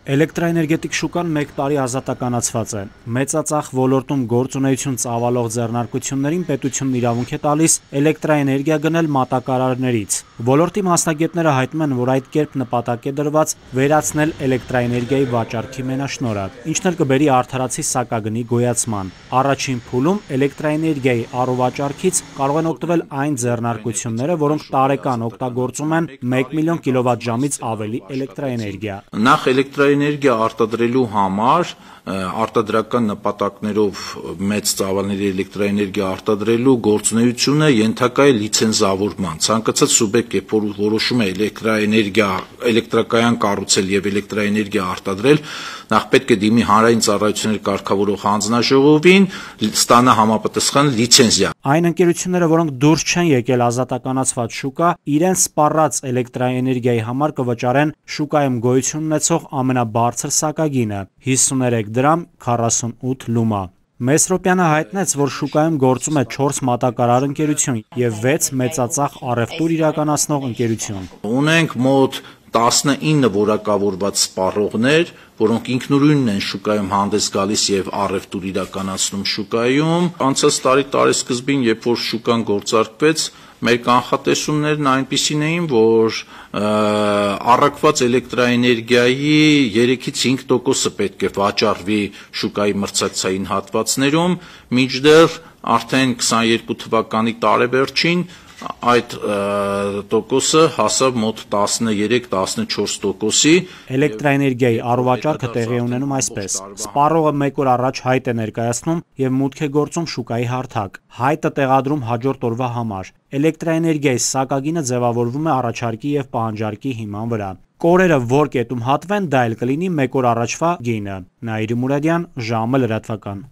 Էլեկտրաէներգետիկ շուկան մեկ տարի ազատականացված է։ Մեծածախ ոլորտում գործունեություն ծավալող ձեռնարկություններին պետությունն իրավունք է տալիս էլեկտրաէներգիա գնել մատակարարներից։ Ոլորտի մասնագետները հայտնում են, որ այդ կերպ նպատակ է դրված վերացնել էլեկտրաէներգիայի վաճառքի մենաշնորհը, ինչն էլ կբերի արդարացի սակագնի գոյացման։ Առաջին փուլում էլեկտրաէներգիայի առուվաճառքից կարող են օգտվել այն ձեռնարկությունները, որոնք տարեկան օգտագործում են 1 միլիոն կիլովատժամից ավելի էլեկտրաէներգիա։ Նախ էլեկտրաէներգիա արտադրելու համար արտադրական նպատակներով մեծ ծավալների էլեկտրաէներգիա արտադրելու գործունեությունը ենթակա է լիցենզավորման։ Ցանկացած սուբյեկտ, երբ որ որոշում է էլեկտրակայան կառուցել եւ էլեկտրաէներգիա արտադրել, նախ պետք է դիմի հանրային ծառայությունների կարգավորող հանձնաժողովին, ստանա համապատասխան լիցենզիա։ Այն ընկերությունները, որոնք դուրս չեն եկել ազատականացված շուկա, իրենց սպառած էլեկտրաէներգիայի համար կվճարեն շուկայում գոյություն ունեցող ամենաբարձր սակագինը՝ 53 դրամ 48 լումա։ Մեսրոպյանը հայտնեց, որ շուկայում գործում է 4 մատակարար ընկերություն եւ 6 մեծածախ առևտուր իրականացնող ընկերություն։ Ունենք մոտ 19 որակավորված սպառողներ, որոնք ինքնուրույնն են շուկայում հանդես գալիս եւ առևտուր իրականացնում շուկայում։ Անցած տարի տարեսկզբին, երբ որ շուկան գործարկվեց, մեր կանխատեսումներն այնպիսին էին, որ առաքված էլեկտրաէներգիայի 3-ից 5%-ը պետք է վաճառվի շուկայի մրցակցային հատվածներում, մինչդեռ արդեն 22 թվականի տարեվերջին այդ տոկոսը հասավ մոտ 13-14%-ի։ Էլեկտրաէներգիայի առուվաճառքը տեղի է ունենում այսպես. սպառողը 1 օր առաջ հայտ է ներկայացնում եւ մուտք է գործում շուկայի հարթակ։ Հայտը տեղադրում հաջորդ օրվա համար։ Էլեկտրաէներգիայի սակագինը ձևավորվում է առաջարկի եւ պահանջարկի հիման վրա։ Կորերը որ կետում հատվեն, դա էլ կլինի 1 օր առաջվա գինը։ Նաիրի Մուրադյան, ժամը լրատվական։